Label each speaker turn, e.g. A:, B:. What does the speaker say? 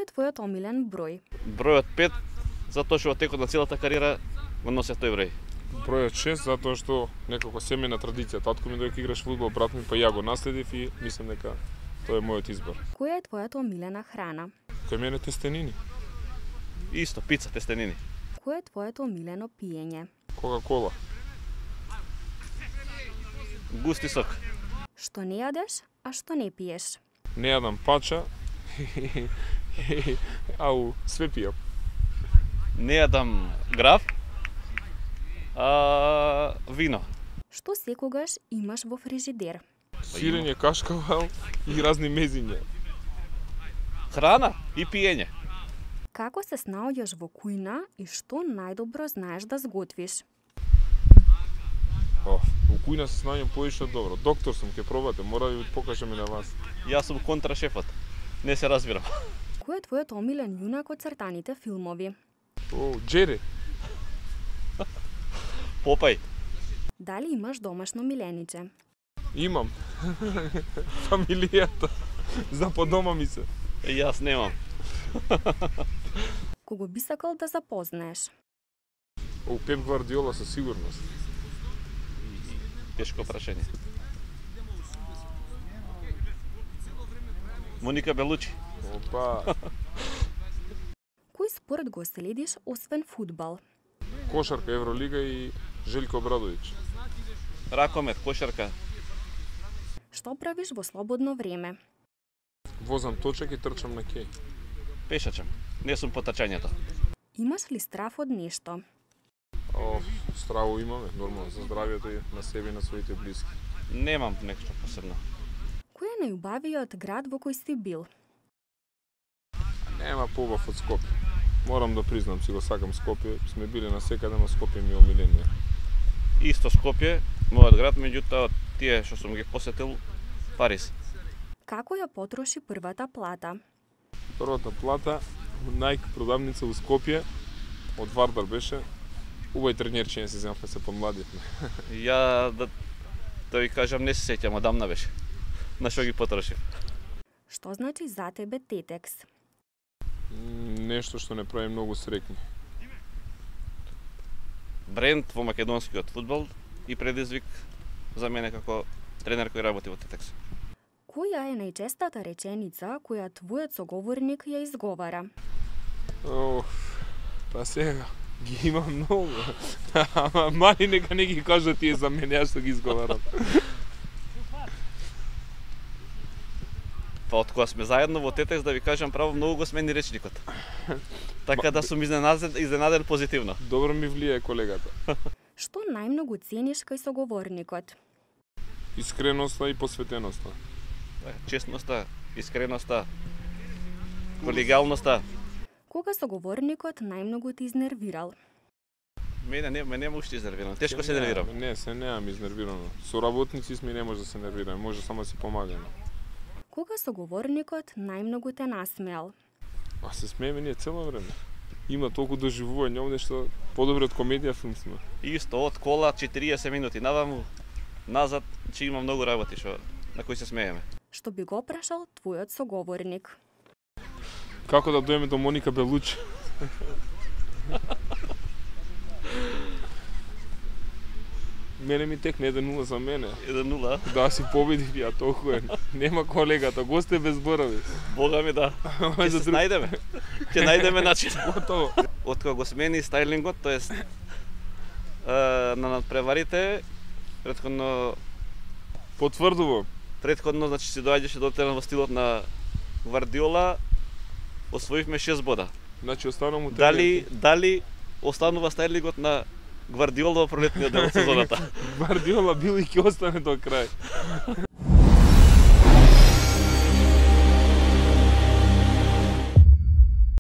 A: Кој е твојот омилен број?
B: Бројот 5, затоа што во текот на целата кариера го носев тој број.
C: Бројот 6, затоа што некако семејна традиција. Татко ми додека играш фудбал, брат ми па ја го наследив и мислам дека тоа е мојот избор.
A: Која е твојата омилена храна?
C: Кај мене тестенини.
B: Исто, пица, тестенини.
A: Кој е твоето омилено пиење?
C: Кока-кола.
B: Густи сок.
A: Што не јадеш, а што не пиеш?
C: Не јадам пача. Ау, све пијам.
B: Не јадам граф, вино.
A: Што секогаш имаш во фрижидер?
C: Сирење, кашкавал и разни мезиња.
B: Храна и пиење.
A: Како се снаоѓаш во кујна и што најдобро знаеш да сготвиш?
C: Во кујна се снаоѓам поише добро. Доктор сум, ќе пробате, мора да ви покажам и на вас.
B: Јас сум контрашефот. Не се разбирам.
A: Кој е твојот омилен јунак од цртаните филмови?
C: Джери.
B: Попај.
A: Дали имаш домашно милениче?
C: Имам. Фамилијата. За по дома ми се.
B: Јас немам.
A: Кого би сакал да запознаеш?
C: Пеп Гвардиола со сигурност.
B: Тешко прашање. Моника Белучи.
C: Опа.
A: Кој спорт го следиш освен фудбал?
C: Кошарка, Евролига и Желко Обрадовиќ.
B: Ракомет, кошарка.
A: Што правиш во слободно време?
C: Возам точак и трчам на кеј.
B: Пешачам. Не сум по трчањето.
A: Имаш ли страф од нешто?
C: Страво имаме, нормално, за здравието и на себе и на своите блиски.
B: Немам нешто посебно.
A: Кој е најубавиот град во кој си бил?
C: Нема побав од Скопје. Морам да признам, си го сакам Скопје. Сме били на секаде, но Скопје ми е омиление.
B: Исто Скопје, мојот град, меѓутоа тие што сум ги посетил, Париз.
A: Како ја потроши првата плата?
C: Првата плата, Nike продавница во Скопје, од Вардар беше. Убај тренерчиња се земавме се помладивме.
B: Ја да ви кажам, не се сеќам, одамна беше. На што ги потрошив.
A: Што значи за тебе тетекс?
C: Нешто што не прави многу среќни.
B: Бренд во македонскиот фудбал и предизвик за мене како тренер кој работи во Тетекс.
A: Која е најчестата реченица која твојот соговорник ја изговара?
C: Па сега, ги има многу. Ама мали нека не ги кажат тие за мене, јас што ги изговарам.
B: Па од кога сме заедно во Тетекс, да ви кажам право, многу го смени речникот. Така да сум изненаден позитивно.
C: Добро ми влијае колегата.
A: Што најмногу цениш кај соговорникот?
C: Искреноста и посветеноста.
B: Честноста, искреноста, колегиалноста.
A: Кога соговорникот најмногу те изнервирал?
B: Мене нема уште изнервирано. Тешко се нервирам.
C: Не, се немам изнервирано. Со работници сме не може да се нервираме, може само да си помагаме.
A: Кога соговорникот најмногу те насмеал?
C: Се смееме ние цело време. Има толку доживување овде што подобро од комедија филм сме.
B: Исто, од кола 40 минути наваму, назад, че има многу работи на кои се смееме.
A: Што би го прашал твојот соговорник?
C: Како да дојдеме до Моника Белучи? Мене ми текне 1-0 за мене.
B: 1-0?
C: Да, си победив ја толку е. Нема колегата, госте без зборови.
B: Бога ми да. Ќе се најдеме. Ќе најдеме начин.
C: Готово.
B: Од кога го смени стајлингот, тоест на надпреварите, претходно
C: потврдувам.
B: Претходно, значи си доаѓаше до терен во стилот на Гвардиола, освоивме 6 бода.
C: Значи останува
B: Дали останува стајлингот на Гвардиола во пролетниот дел од сезоната?
C: Гвардиола бил и ќе остане до крај.